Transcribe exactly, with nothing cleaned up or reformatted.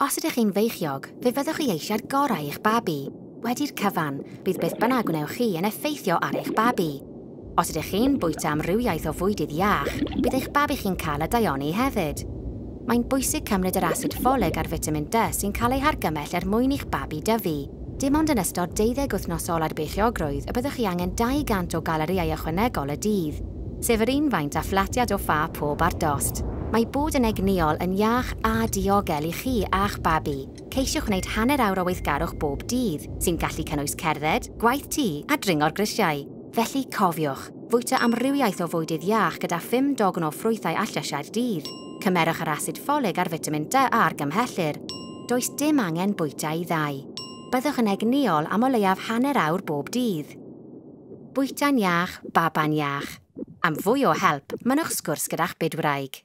Os ydych chi'n feichiog, fe fyddwch chi eisiau'r gorau i'ch babi. Wedi'r cyfan, bydd beth bynnag gwnewch chi yn effeithio ar eich babi. Os ydych chi'n bwyta amrywiaeth o fwydydd iach, bydd eich babi chi'n cael y daioni hefyd. Mae'n bwysig cymryd yr asid ffolig a'r fitamin D sy'n cael ei hargymell er mwyn i'ch babi dyfu. Dim ond yn ystod deuddeg wythnos ola'r beichiogrwydd y byddwch chi angen dau gant o galorïau ychwanegol y dydd, sef yr un faint â phlatiad o ffa pob ar dost. Mae bod yn egnïol yn iach a diogel i chi a'ch babi. Ceisiwch wneud hanner awr o weithgarwch bob dydd, sy'n gallu cynnwys cerdded, gwaith tŷ a dringo'r grisiau. Felly cofiwch, fwyta amrywiaeth o fwydydd iach gyda phum dogn o ffrwythau a llysiau'r dydd. Cymerwch yr asid ffolig a'r fitamin D a argymhellir. Does dim angen bwyta i ddau. Byddwch yn egnïol am o leiaf hanner awr bob dydd. Bwyta'n iach, baban iach. Am fwy o help, mynnwch sgwrs gyda'ch bydwraig.